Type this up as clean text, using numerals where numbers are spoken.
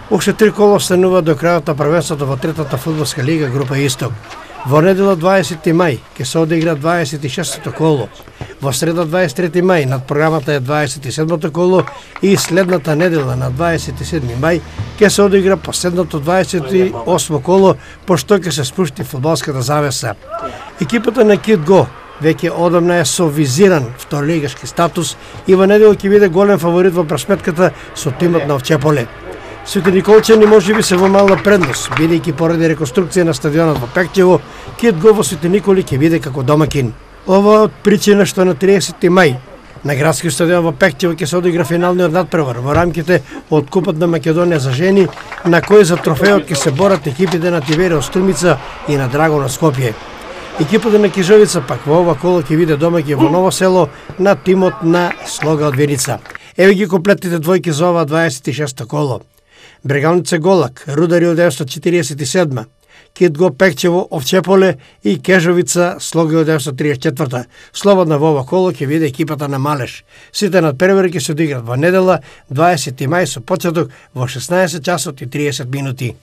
Уште 3 кола останува до крајот на првенството во третата фудбалска лига група Исток. Во недела 20 мај ќе се одигра 26-то коло. Во среда 23 мај над програмата е 27-то коло и следната недела на 27 мај ќе се одигра последното 28 коло, пошто ќе се спушти фудбалската завеса. Екипата на Кит Го веќе одамна е со визиран второлигашки статус и во недела ќе биде голем фаворит во пресметката со тимот на Овчеполе. Свети Николчани можеби се во мала предност, бидејќи поради реконструкција на стадионот во Пекчево, Кит Го во Свети Николи ќе биде како домакин. Ова од причина што на 30 мај на градскиот стадион во Пекчево ќе се одигра финалниот надпревар во рамките од Купот на Македонија за жени, на кој за трофеот ќе се борат екипите на Тиверио Струмица и на Драгона Скопје. Екипата на Кижовица пак во ова коло ќе биде домаќин во Ново село на тимот на Слога од Виница. Еве ги комплетните двојки за ова 26-то коло. Брегалница Голак, Рудари 1947, Кит Го Пекчево, Овчеполе и Кежовица, Слога 1934. Слободна во ова коло ќе биде екипата на Малеш. Сите надпревари ќе се одиграат во недела 20 мај со почеток во 16 часот и 30 минути.